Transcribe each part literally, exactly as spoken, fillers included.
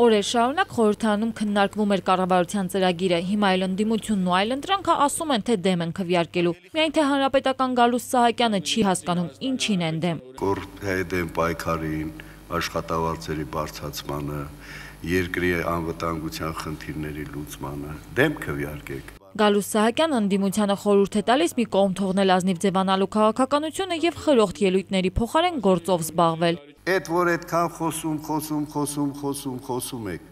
Օրեր շարունակ խորհրդարանում քննարկվում էր կառավարության ծրագիրը, հիմա էլ ընդդիմությունն ու այլընտրանքը ասում են, թե դեմ են քվեարկելու։ Միայն թե հանրապետական Գալուստ Սահակյանը չի հասկանում, ինչին են դեմ։ Կոռուպցիայի դեմ պայքարին, աշխատավարձերի բարձրացմանը, երկրի անվտանգության խնդիրների լուծմանը դեմ քվեարկեք։ Գալուստ Սահակյանը ընդդիմությանը խորհուրդ է տալիս մի կողմ թողնել ազնիվ ձևանալու քաղաքականությունը եւ խրոխտ ելույթների փոխարեն գործով զբաղվել։ Այդ որ այդքան խոսում, խոսում, խոսում, խոսում, խոսում եք։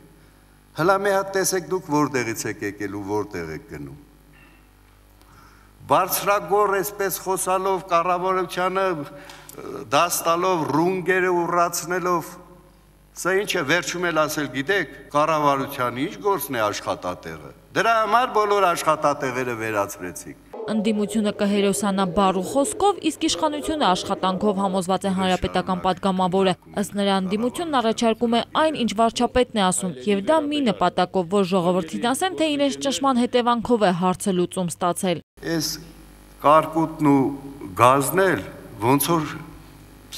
Հլա մի հատ տեսեք դուք որտեղից եք եկել ու որտեղ եք գնում։ Բարձրագոռ այսպես խոսալով կառավարությանը դաս տալով ռունգերը ուռացնելով, սա ինչ է վերջում էլ ասել գիտեք, կառավարության ինչ գործն է աշխատատեղը։ Դրա համար բոլոր աշխատատեղերը վերացրեցիք։ Ընդդիմությունը կհերոսանա բառ ու խոսքով, իսկ իշխանությունը աշխատանքով համոզված է հանրապետական պատգամավորը։ Ըստ նրա ընդդիմությունն առաջարկում է այն, ինչ վարչապետն է ասում, եւ դա մի նպատակով, որ ժողովրդին ասեն, թե իրենց ճնշման հետևանքով է հարցը լուծում ստացել։ Այս կարկուտն ու գազն էլ ոնց որ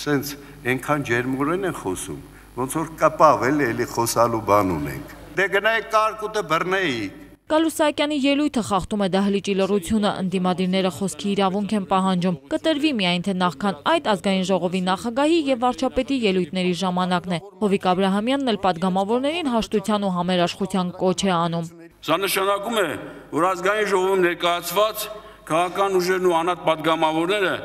սենց այնքան ջերմորեն են խոսում, ոնց որ կապավ էլ էլի խոսալու բան ունենք։ Դե գնայեք կարկուտը բռնեիք։ Գալուստ Սահակյանի ելույթը խախտում է դահլիճի լռությունը, ընդդիմադիրները խոսքի իրավունք են պահանջում։ Կտրվի միայն թե նախքան այդ ազգային ժողովի նախագահի եւ վարչապետի ելույթների ժամանակն է։ Հովիկ Աբրահամյանն էլ պատգամավորներին հաշտության ու համերաշխության կոչ է անում։ Սա նշանակում է, որ ազգային ժողովում ներկայացված քաղաքական ուժերն ու անհատ պատգամավորները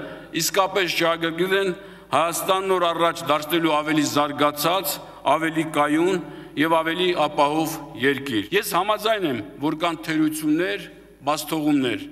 իսկապես շահագրգիռ են Հայաստանն օր առաջ դարձնելու ավելի զարգացած, ավելի կայուն եւ ավելի ապահով երկիր։ Ես համաձայն եմ, որ կան թերություններ, բացթողումներ,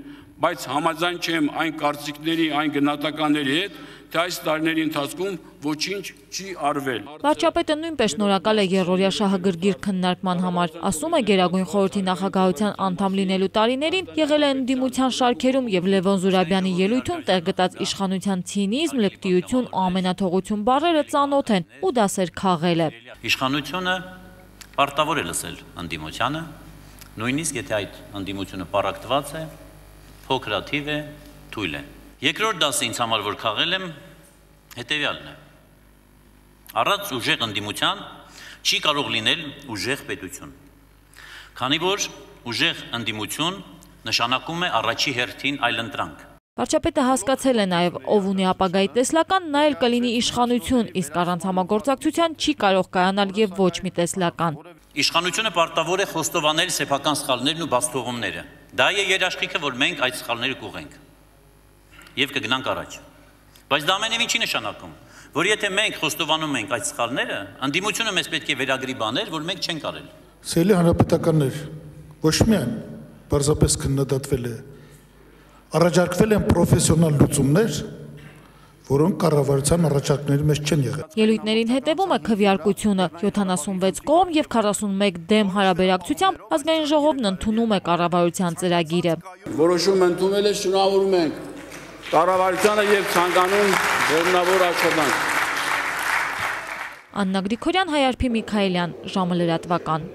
բայց համաձայն չեմ այն կարծիքների, այն գնահատականների հետ, թե այս տարիների ընթացքում ոչինչ չի արվել։ Վարչապետը նույնպես շնորհակալ է երրորդյա շահագրգիռ քննարկման համար։ Ասում է Գերագույն խորհրդի նախագահության անդամ լինելու տարիներին եղել է ընդդիմության շարքերում եւ Լևոն Զուրաբյանի ելույթում տեղ գտած իշխանության ցինիզմ, լկտիություն ու ամենաթողություն բառերը ծանոթ են ու դասեր քաղել է։ Իշխանությունը պարտավոր է լսել ընդդիմությանը, նույնիսկ եթե այդ ընդդիմությունը պառակտված է, փոքրաթիվ է, թույլ է։ Երկրորդ դասը ինձ համար որ քաղել եմ, հետևյալն է։ Առանց ուժեղ ընդդիմության չի կարող լինել ուժեղ պետություն։ Քանի որ ուժեղ ընդդիմություն նշանակում է առաջի հերթին այլընտրանք։ Վարչապետը հասկացել է նաև ով ունի ապագայի տեսլական, նա էլ կլինի իշխանություն, իսկ առանց համագործակցության չի կարող կայանալ եւ ոչ մի տեսլական։ Իշխանությունը պարտավոր է խոստովանել սեփական սխալներն ու բացթողումները։ Դա է երաշխիքը, որ մենք այդ սխալները կուղենք եւ կգնանք առաջ։ Բայց դա ամենևին չի նշանակում, որ եթե մենք խոստովանում ենք այդ սխալները, ընդդիմությունը մեզ պետք է վերագրի բաներ, որ մենք չենք արել։ Սիրելի հանրապետականներ, ոչ միայն բարձրապես քննադատվել է, առաջարկվել են պրոֆեսիոնալ լուծումներ, որոնք կառավարության առաջարկների մեջ չեն եղել։ Ելույթներին հետևում է քվեարկությունը, յոթանասունվեց կողմ եւ քառասունմեկ դեմ հարաբերակցությամբ ազգային ժողովն ընդունում է կառավարության ծրագիրը։ Որոշում ընդունել է, շնորհավորում ենք կառավարությանը եւ ցանկանում բեռնավոր աշխատանք։ Աննա Գրիգորյան, Հայ Արփի Միքայելյան, ժամը լրատվական։